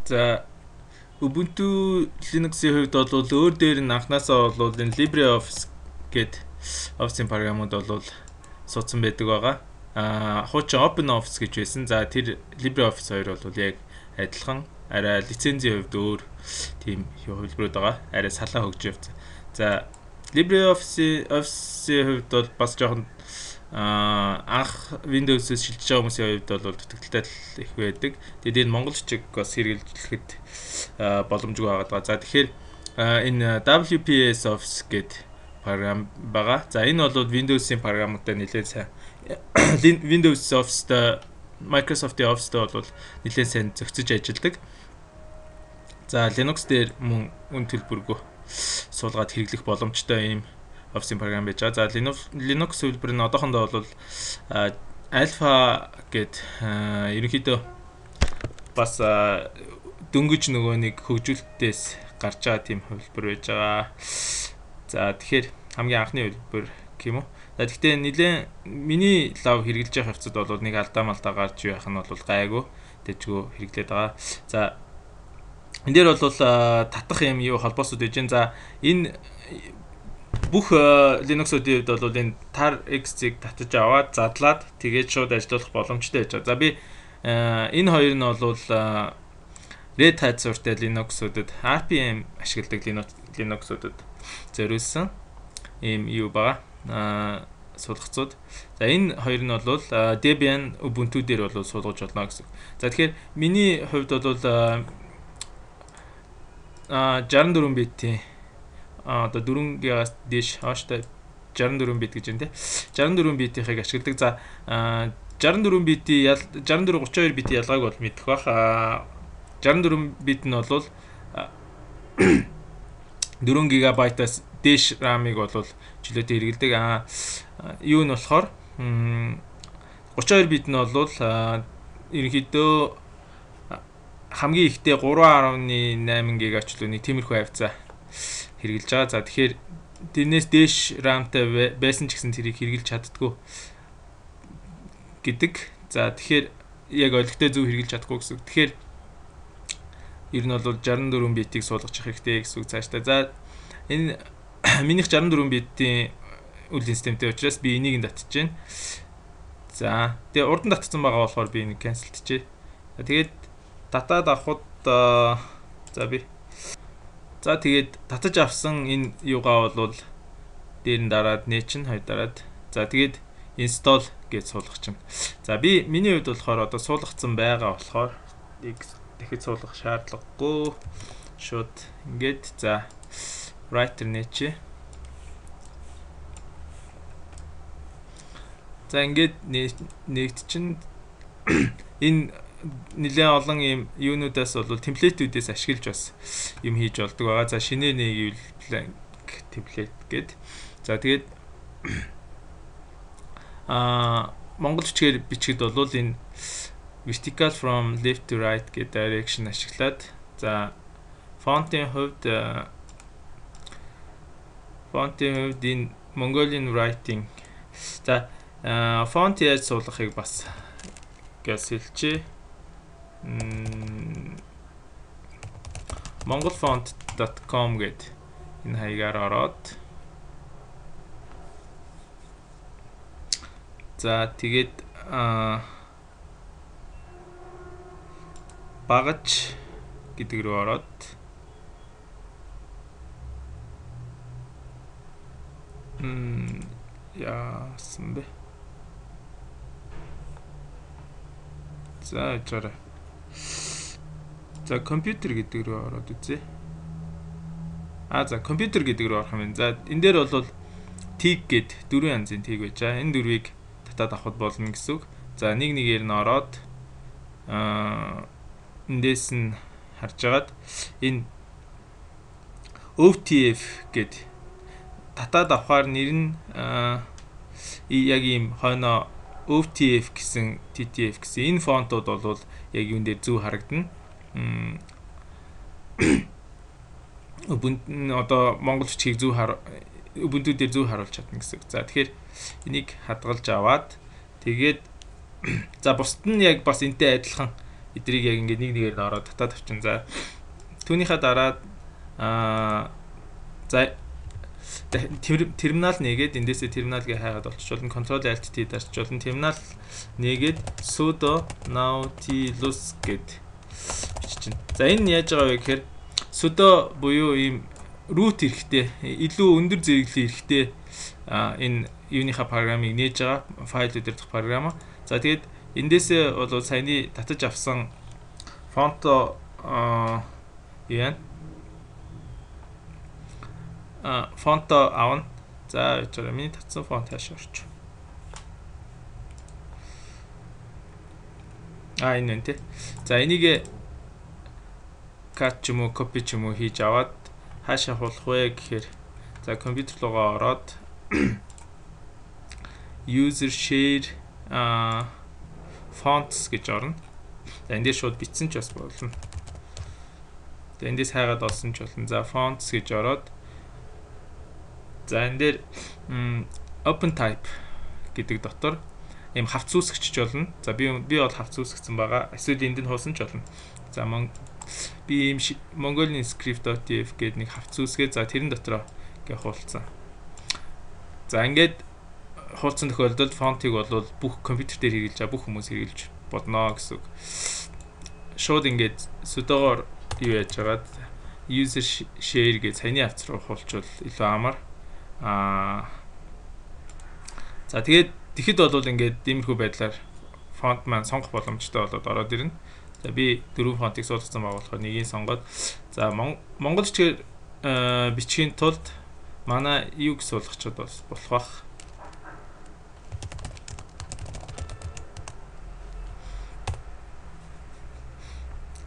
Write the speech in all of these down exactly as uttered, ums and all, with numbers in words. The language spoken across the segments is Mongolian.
За Ubuntu Linux-ийн хувьд бол өөр дээр нь анхнаасаа бол энэ LibreOffice гээд Office-ийн програмууд бол суудсан байдаг байгаа. Аа хуучин OpenOffice гэж байсан. За тэр LibreOffice хоёр бол яг адилхан, арай лицензийн хувьд өөр тийм хувилбарууд байгаа. Арай салаа хөгж явц. За LibreOffice Office-ийн хувьд бол бас жоохон аа анх Windows-с шилжиж байгаа хүмүүсийн хувьд бол дутагдaltaй их байдаг. Тэгээд энэ монголчиг бас хэрэглэхэд боломжгүй байгаа. За тэгэхээр энэ W P S Office гэдэг програм байгаа. За энэ бол Windows-ийн програмуудтай нэлээд сайн Windows Office-тай Microsoft-ийн Office-тай бол нэлээд сайн зохицож ажилладаг. За Linux дээр мөн үн төлбөргүй суулгаад хэрэглэх боломжтой ийм Office-ийн програм байж байгаа. За Linux Linux хэлбэр нь одоохондоо бол Alpha гэд ерөнхийдөө бас дөнгөж нөгөө нэг хөгжүүлэлтээс гарч байгаа тийм хэлбэр байж байгаа. За тэгэхээр хамгийн анхны хэлбэр гэх юм уу. За гэхдээ нэлээд миний лав хэрэгжилж байгаа хавцад бол нэг алдаа малтаа гарч явах нь бол гайгүй дэжгөө хэрэглээд байгаа. За энэ дээр бол татах юм юу холбоосууд байж гэн. За энэ бүх Linux-уудын хувьд бол энэ tar X-ийг татаж аваад задлаад тэгээд шууд ажиллах боломжтой байж байгаа. За би энэ хоёр нь бол Red Hat суурьтай Linux-уудад R P M ашигладаг Linux-уудад зориулсан ийм юу байгаа. Аа суулгацууд. За энэ хоёр нь бол Debian Ubuntu дээр бол суулгаж болно гэсэн. За тэгэхээр миний хувьд бол аа шестьдесят и четыре битийн а одоо дөрвөн гигаас дээш хааштай шестьдесят и четыре бит гэж байна те. шестьдесят и четыре битийг ашигладаг. За шестьдесят и четыре битийн шестьдесят и четыре тридцать и хоёр битийн ялгааг бол мэдэх бах. шестьдесят и четыре бит нь бол дөрвөн гигабайтаас дээш RAM-ыг бол чөлөөтэй хэрэглэдэг. А юу нь болохоор тридцать и хоёр бит нь бол ерөнхийдөө хамгийн ихтэй three point eight гига чөлөөний тиймэрхүү хавцаа хэрэгжилж байгаа. За тэгэхээр тэрнээс дээш RAM-тай байсан ч гэсэн тэрийг хэрэгжилж чаддгүй гэдэг. За тэгэхээр яг ойлгохтой зөв хэрэгжилж чадахгүй гэсэн. Тэгэхээр ер нь бол шестьдесят и четыре битийг суулгах хэрэгтэй гэсэн үг цааштай. За энэ минийх шестьдесят и четыре битийн үйл системтэй учраас би энийг нь татчихж байна. За тэгээ урд нь татсан байгаа болохоор би энийг cancelтчээ. Тэгээд татаад авахд за би за тэгээд татаж авсан энэ юугаа бол дээр нь дараад нээчин хоёр дараад за тэгээд install гэж суулгах чинь. За би миний хувьд болохоор одоо суулгацсан байгаа болохоор дахиж суулгах шаардлагагүй. Шууд ингээд за writer нээчээ. За ингээд нэгт чинь энэ нэлээд олон юм юунуудаас бол темплейтүүдээс ашиглаж бас юм хийж болдог байгаа. За шинээр нэг blank template гээд. За тэгээд а монгол бичгээр бичгэд бол энэ vertical from left to right гэдэг direction ашиглаад за font-ийн хувьд font-ийн хувьд энэ Mongolian writing за font яаж суулгахыг бас гэж хэлчихье. mongolfont dot com гэд энэ хаягаар ороод за тэгээд багаж гэдэг рүү ороод м яасан бэ? За чара. За компьютер гэдэг рүү ороод үзье. А за компьютер гэдэг рүү орох юм байна. За энэ дээр бол tag гэд дөрвөн янзын tag байж байгаа. Энэ дөрвийг татаад авахд болно гэсэн үг. За нэг нэгээр нь ороод аа эндээс нь харж агаад энэ O T F гэд татаад авахаар нэр нь яг ийм хойно O T F гэсэн T T F гэсэн энэ фонтууд бол яг юун дээр зөв харагдана. Ubuntu одоо монгол бичгийг зөв хар Ubuntu дээр зөв харуулж чадна гэсэн үг. За тэгэхээр энийг хадгалж аваад тэгээд за бусд нь яг бас энтэй адилхан эдрийг яг ингээд нэг нэгээр нь ороод татаад авчин. За түүнийхээ дараа аа за терминал нэгээд эндээсээ терминал гээ хайгаад болчихвол control alt t дарчвол терминал нэгээд sudo nautilus гэд бичиж байна. За энэ яаж байгаа вэ гэхээр sudo буюу ийм root эрэхтэй илүү өндөр зэрэглэлийн эрэхтэй энэ юуныхаа програмыг нээж байгаа файл удирдах програм. За тэгээд эндээсээ бол саяны татаж авсан фонто яа а фонто авна. За яа миний татсан фонт хааш орч. А энэ нэ. За энийг кат ч юм уу копи ч юм уу хийж аваад хаашаа хуулах вэ гэхээр за компьютер руугаа ороод user share а fonts гэж орно. За эндээс шууд бичсэн ч бас болно. За эндээс хайгаад олсон ч болно. За fonts гэж ороод за энэ дээр open type гэдэг дотор ийм хавц үүсгэж болно. За би би бол хавц үүсгэсэн байгаа. Эсвэл энд нь хуусан ч болно. За би ийм Mongolian script.tf гэдэг нэг хавц үүсгээ. За тэрэн дотроо ингээ хуулцсан. За ингээд хуулцсан тохиолдолд фонтыг бол бүх компьютер дээр хэрэгжилж байгаа бүх хүмүүс хэрэгжилж бодно гэсэн үг. Шууд ингээд судогоор юу яаж байгаад user share гэж саяны хавц руу хуулчвал илүү амар. Аа за тэгээд тэгэхэд бол ингээд иймэрхүү байдлаар фонт маань сонгох боломжтой болоод ороод ирнэ. За би дөрвөн фонтыг суулгасан байгаа болохоор нэгийг сонгоод за монголчээр бичгийн тулд манай юг суулгачод болох бах.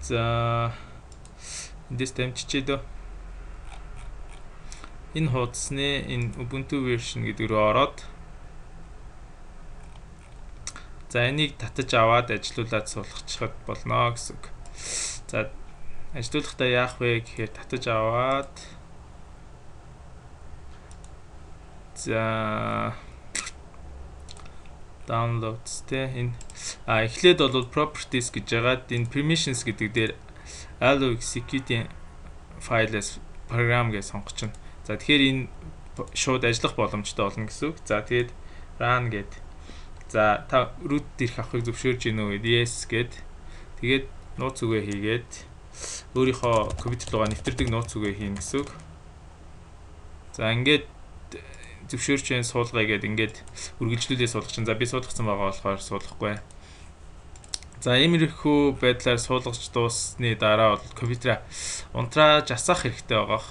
За эндээс дамжчихээ дөө. Энэ хуудасны энэ Ubuntu version гэдэг рүү ороод за энийг татаж аваад ажилуулад суулгачихад болно гэсэн үг. За ажилуулахдаа яах вэ гэхээр татаж аваад за downloads тэ энэ а эхлээд бол properties гэж яагаад энэ permissions гэдэг дээр allow executing files program гэж сонгож чинь. За тэгэхээр энэ шууд ажиллах боломжтой болно гэсэн үг. За тэгээд run гэд. За та root дээрх авахыг зөвшөөрж гинөө гэд yes гэд. Тэгээд нууц үгээ хийгээд өөрийнхөө компьютер руугаа нэвтэрдэг нууц үгээ хийн гэсэн үг. За ингээд зөвшөөрч энэ суулгая гэд ингээд үргэлжлүүлээ суулгах чинь. За би суулгацсан байгаа болохоор суулгахгүй. За иймэрхүү байдлаар суулгаж дуусны дараа бол компьютераа унтрааж асаах хэрэгтэй байгаа.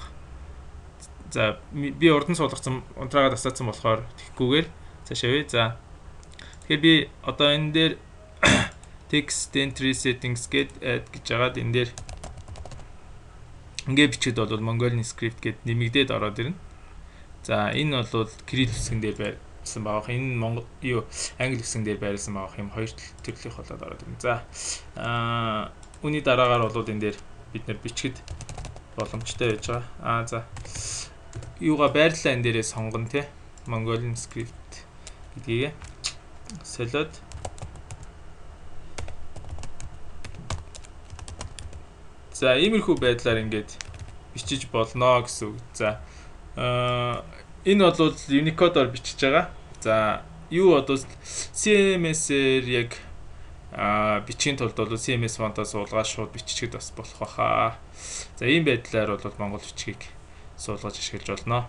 За би урд нь суулгацсан унтраагаад асаацсан болохоор тэгхгүйгээр цаашаа вэ. За тэгэхээр би одоо энэ дээр text entry settings гэд add гэж яагаад энэ дээр ингээд бичээд бол Mongolian script гэд нэмэгдээд ороод ирнэ. За энэ бол Kirill хэсгэн дээр байсан баах. Энэ Монгол юу англи хэсгэн дээр байрласан баах юм хоёр төрлийнх болоод ороод ирнэ. За аа үүний дараагаар бол энэ дээр бид нэр бичгэд боломжтой байж байгаа. Аа за юугаа байрлалаа энэ дээрээ сонгоно те. Mongolian script гэдгийг солиод за иймэрхүү байдлаар ингээд бичиж болно гэсэн үг. За аа энэ бол Unicode-оор бичиж байгаа. За юу одоо си эм эс-ээр яг а бичгийн тулд бол си эм эс фонтоос суулгаад шууд биччихэд бас болох баха. За ийм байдлаар бол монгол бичгийг суулгаж ашиглаж болно.